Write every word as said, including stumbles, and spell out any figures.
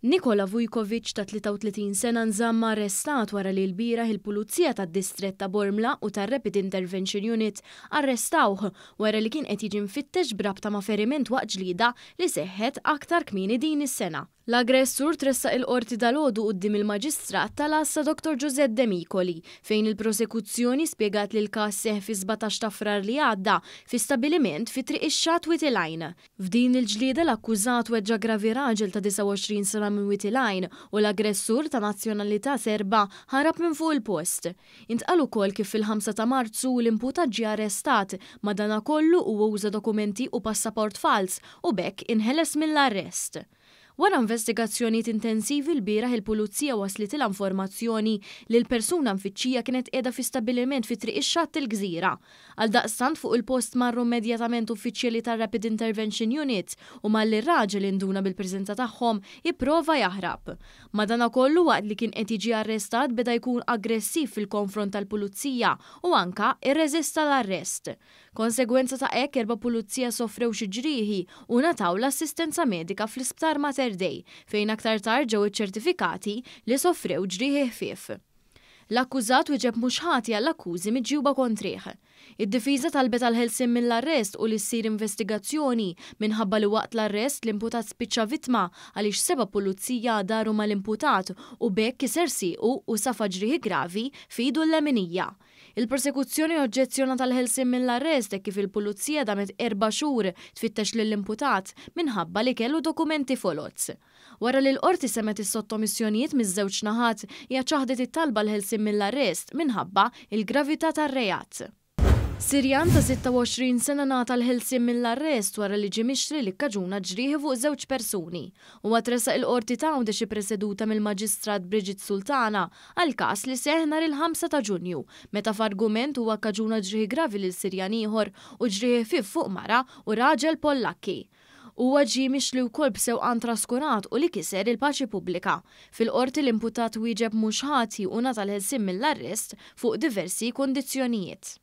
Nikola Vujkovic ta' tlieta u tletin sena nżamm arrestat wara li lbieraħ il-Pulizija tad-Distrett ta' Bormla u tar-Rapid Intervention Unit arrestawh wara li kien qed jiġi mfittex b'rabta ma' feriment waqt ġlieda li seħħet aktar kmieni din is-sena. L-aggressur tressaq il-qorti dalgħodu quddiem il-Maġistrat tal-Għassa Dottor Giuseppe De Micoli, fejn il-prosekuzzjoni spjegat li l-każ seħħ fi sbatax ta' Frar li għadda fi stabiliment fi Triq ix-Xatt Wied il-Għajn. F'din il-ġlieda l-akkużat weġġa' gravi raġel ta' disgħa u għoxrin sena minn Wied il-Għajn u l-aggressur ta' nazzjonalità Serba ħarab minn fuq il-post. Intqal ukoll kif fil-ħamsa ta' Marzu l-imputat ġie arrestat, madanakollu huwa uża dokumenti u passaport fals u b'hekk inħeles mill-arrest. Wara investigazzjonijiet intensivi lbieraħ il-pulizija waslitilha informazzjoni li l-persuna mfittxija kienet qiegħda fi stabiliment fi Triq ix-Xatt il-Gżira. Għaldaqstant fuq il-post marru immedjatament uffiċjali tar-Rapid Intervention Unit u malli r-raġel induna bil-preżenza tagħhom ipprova jaħrab. Madanakollu waqt li kien qed jiġi arrestat beda jkun aggressiv fil-konfront tal-pulizija u anka irreżista l-arrest. Konsegwenza ta' hekk erba' pulizija soffrew xi ġrieħi u ngħataw l-assistenza medika fl-isptar Mater Dei, fejn aktar tard ġew iċċertifikati li soffrew ġrieħi ħfief. L-akkużat wieġeb mhux ħati għall-akkużi miġjuba kontrih. Id-difiża talbet għal ħelsien mill-arrest u li ssir investigazzjoni minħabba li waqt l-arrest l-imputat spiċċa vittma għaliex seba' pulizija daru mal-imputat u b'hekk kiser siequ u safa ġrieħi gravi f'idu l-leminija. Il-prosekuzzjoni oġġezzjonat għal ħelsien mill-arrest hekk kif il-pulizija damet erba' xhur tfittex lill-imputat minħabba li kellu dokumenti foloz. Wara li l-qorti semgħet is-sottomissjonijiet miż-żewġ naħat, hija ċaħdet it-talba l-ħelsien mill-arrest minħabba il-gravità tar-reat. Sirjan ta' sitta u għoxrin sena ngħata l-ħelsien mill-arrest wara li ġie mixli li kkaġuna ġrieħi fuq żewġ persuni. Huwa tressaq il-qorti ta' Għawdex ippreseduta mill-Maġistrat Brigitte Sultana għal każ li seħħ nhar il-ħamsa ta' Ġunju, meta f'argument huwa kkaġuna ġrieħi gravi lil Sirjan ieħor u ġrieħi ħfief fuq mara u raġel Pollakki. Huwa ġie mixli wkoll b'sewqan traskurat u li kiser il-paċi pubblika. Fil-qorti l-imputat wieġeb mhux ħati u ngħata l-ħelsien mill-arrest fuq diversi kundizzjonijiet.